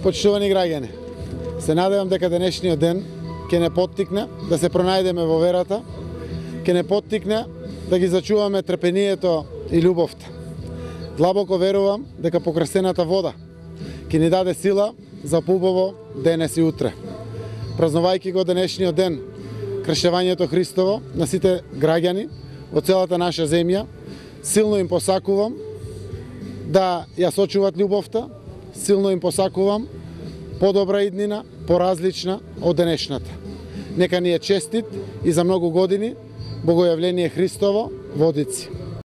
Почитувани граѓани, се надевам дека денешниот ден ќе не поттикне да се пронајдеме во верата, ќе не поттикне да ги зачуваме трпението и љубовта. Длабоко верувам дека покрасената вода ќе ни даде сила за поубаво денес и утре. Празнувајќи го денешниот ден, кршевањето Христово на сите граѓани од целата наша земја, силно им посакувам да ја сочуват љубовта, силно им посакувам подобра иднина, поразлична од денешната. Нека ни е честит и за многу години Богојавление Христово во Одици.